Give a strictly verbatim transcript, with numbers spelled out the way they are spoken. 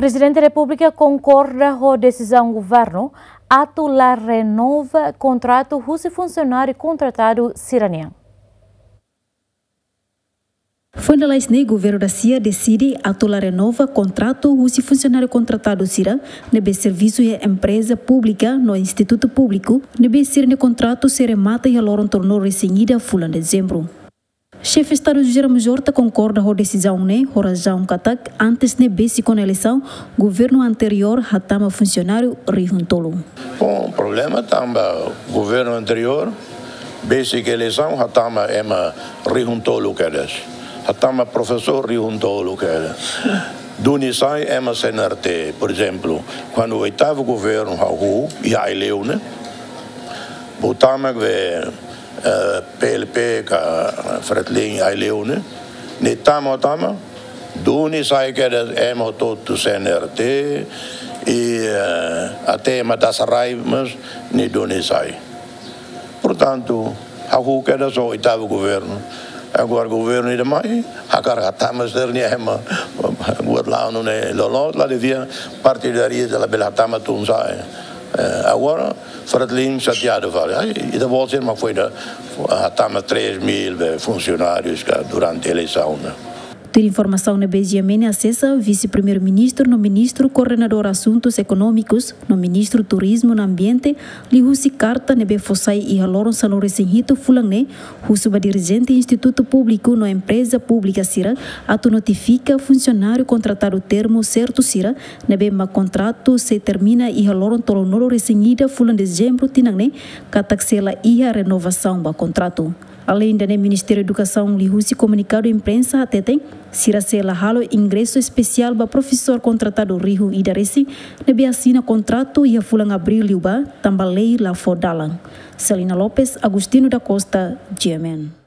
Prezidente Repúblika konkorda ho desizaun governu atu la renova kontratu husi funsionáriu kontratadu sira-nian. Foin lalais ne'e, governu dasia deside atu la renova kontratu husi funsionáriu kontratadu sira ne'ebé servisu iha empreza públika no institutu públiku, ne'ebé sira-nia kontratu sei remata iha loron tolunulu-resin-ida fulan Dezembru. Xefe Estadu José Ramos Horta konkorda ho desizaun ne'e, ho razaun katak antes ne'e besik ona eleisaun, governu anteriór hatama funsionáriu rihun tolu. Bom, problema tanba governu anteriór, besik eleisaun, hatama ema rihun tolu kedas. Hatama profesór rihun tolu kedas. Duni sai ema C N R T, por ezemplu, kuandu oitavu governu hahú iha Aileu ne'e, botama be, eh, P L P ka Fretilin Aileu ne'e, nia tama, tama, duni sai kedas ema hotu C N R T, i, eh, até ema Dasarai mós nia duni sai. Portantu, hahú kedas oitavu governu. Agora governu ida mai, hakarak hatama sira-nia ema. Buat la'o nune'e loloos, la devia partidáriu, la bele hatama tun sa'e. Eh, agora, Fretilin xateadu fali. Ai, ita-boot sira mak foin hatama três mil be funsionárius ka durante eleisaun ne'e. Tuir informasaun ne'ebé G M N asesa, Vise-Primeiru-Ministru no Ministru Koordenadór Asuntus Ekonómikus no Ministru Turizmu no Ambiente liuhusi karta ne'ebé fó sai iha loron sanulu-resin-hitu fulan ne'e, husu ba dirijente institutu públiku no empreza públika sira atu notifika funsionáriu kontratadu termu sertu sira ne'ebé mak kontratu sei termina iha loron tolunulu-resin-ida fulan Dezembru tinan ne'e, katak sei la iha renovasaun ba kontratu. Aleinde ne'e, Ministériu Edukasaun liuhusi komunikadu imprensa hateten, sira sei la halo ingresu espesiál ba profesór kontratadu rihun ida resin ne'ebé asina kontratu iha fulan Abríl liubá, tanba lei la fó dalan. Celina Lopes, Agostinho da Costa, G M N.